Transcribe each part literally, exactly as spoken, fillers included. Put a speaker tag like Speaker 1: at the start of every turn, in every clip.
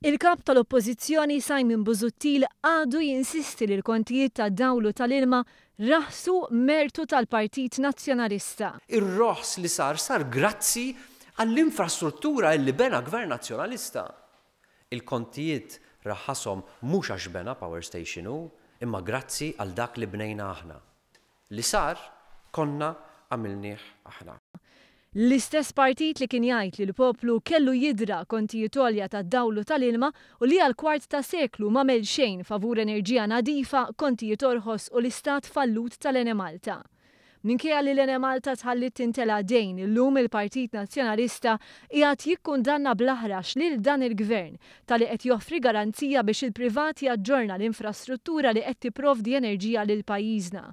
Speaker 1: Il-Kap tal-Oppożizzjoni Simon Busuttil għadu jinsisti li l-kontijiet tad-dawl u tal-ilma raħsu mertu tal-Partit Nazzjonalista.
Speaker 2: Ir-roħs li sar sar grazzi għall-infrastruttura li bena Gvern Nazzjonalista. Il-kontijiet raħashom mhux għax bena power station hu, imma grazzi għal dak li bnejna aħna. Li sar konna għamilnieh aħna.
Speaker 1: L-istess partit li kien jgħid li l-poplu kellu jidra kontijiet għolja tad-dawl u tal-ilma u li għal kwart ta' seklu m'għamel xejn favur enerġija nadifa, kontijiet orħos u l-istat fallut tal-Enemalta. Minkejja li l-Enemalta tħallit tintela dejn, illum il-Partit Nazzjonalista qiegħed jikkundanna bl-aħrax lil dan il-gvern talli qed joffri garanzija biex il-privat jaġġorna l-infrastruttura li qed tipprovdi enerġija lil pajjiżna.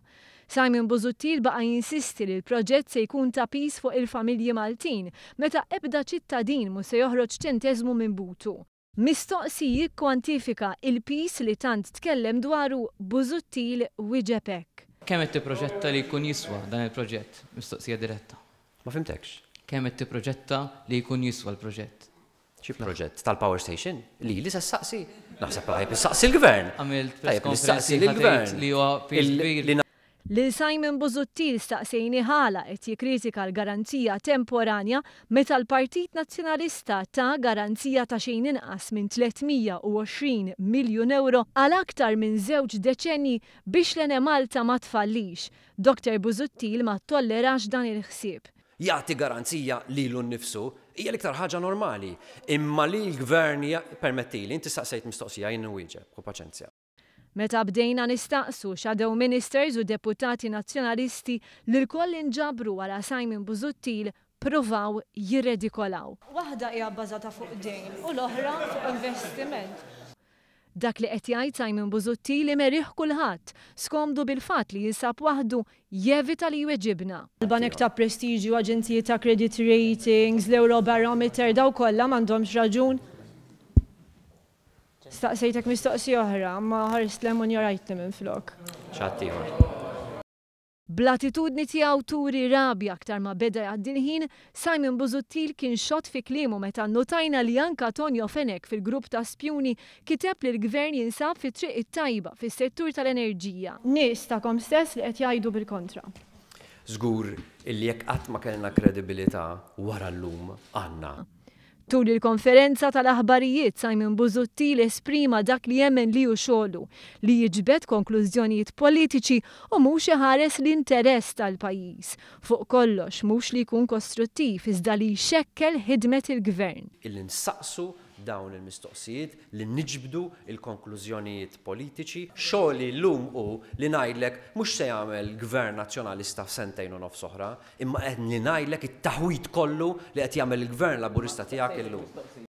Speaker 1: Simon Busuttil baqa' jinsisti li l-proġett se jkun ta' piż fuq il-familji Maltin meta ebda ċittadin mhu se joħroġ ċenteżmu minn butu. Mistoqsi jikkwantifika il-piż li tant tkellem dwaru, Busuttil wieġeb hekk.
Speaker 3: Kemm qed tipproġetta li jkun jiswa dan il-proġett? Mistoqsija diretta.
Speaker 2: Ma fhimtekx.
Speaker 3: Kemm qed tipproġetta li jkun jiswa l-proġett?
Speaker 2: Xi proġett tal-power station? Li li se ssaqsi? Naħseb tajjeb issaqsi l-gvern.
Speaker 3: Għamilt press
Speaker 2: Tajjeb
Speaker 3: conference
Speaker 2: nistaqsi lill-gvern.
Speaker 3: li huwa piż
Speaker 2: Il-
Speaker 3: kbir.
Speaker 2: li
Speaker 1: Lil Simon Busuttil staqsejnieh għala qed jikkritika l-garanzija temporanja meta l-Partit Nazzjonalista ta garanzija ta' xejn inqas minn tliet mija u għoxrin miljun euro għal aktar minn żewġ deċenni biex l-Enemalta ma tfallix. Doktor Busuttil ma tollerax dan il-ħsieb.
Speaker 2: Jagħti garanzija lilu nnifsu hija l-iktar ħaġa normali. Imma li l-gvern permettili, inti staqsejt mistoqsija, jien nwieġeb, u paċenzja.
Speaker 1: Meta bdejna nistaqsu shadow ministers u deputati nazzjonalisti li lkoll inġabru wara Simon Busuttil provaw jirredikolaw. Waħda hija bbażata fuq dejn u l-oħra fuq investiment. Dak li qed jgħid Simon Busuttil imerih kulħadd, skomdu bil-fatt li jinsab waħdu jevita li jweġibna. Il-banek ta' prestiġju, aġenziji ta' credit ratings, l-Eurobarometer, daw kollha m'għandhomx raġun. Staqsejtek mistoqsija oħra, ma ħarist 'l hemm u injorajtni minn flok.
Speaker 2: X'għadd
Speaker 1: Bl-attitudni tiegħu turi rabja aktar ma beda jgħaddi l-ħin, Simon Busuttil kien xott fi kliemu meta notajna li anka Tonio Fenech fil-grupp ta' spjuni kiteb li l-gvern jinsab fi triq it-tajba fis-settur tal-enerġija. Nies tagħkom stess li qed jgħidu bil-kontra.
Speaker 2: Żgur illi jekk qatt ma kellna kredibilità, wara llum għandna.
Speaker 1: Tul il-konferenza tal-aħbarijiet, Simon Busuttil esprima dak li jemmen li hu xogħlu, li jiġbed konklużjonijiet politiċi u mhux iħares l-interess tal-pajjiż. Fuq kollox mhux li jkun kostruttiv iżda li jxekkel ħidmet il-gvern.
Speaker 2: Illi nsaqsu dawn il-mistoqsijiet, li niġbdu il-konklużjonijiet politiċi. Xogħli llum hu li ngħidlek mhux se jagħmel gvern nazzjonalista f'sentejn u nofs oħra, imma qed li ngħidlek it-taħwit kollu li qed jagħmel il-gvern Laburista tiegħek illum.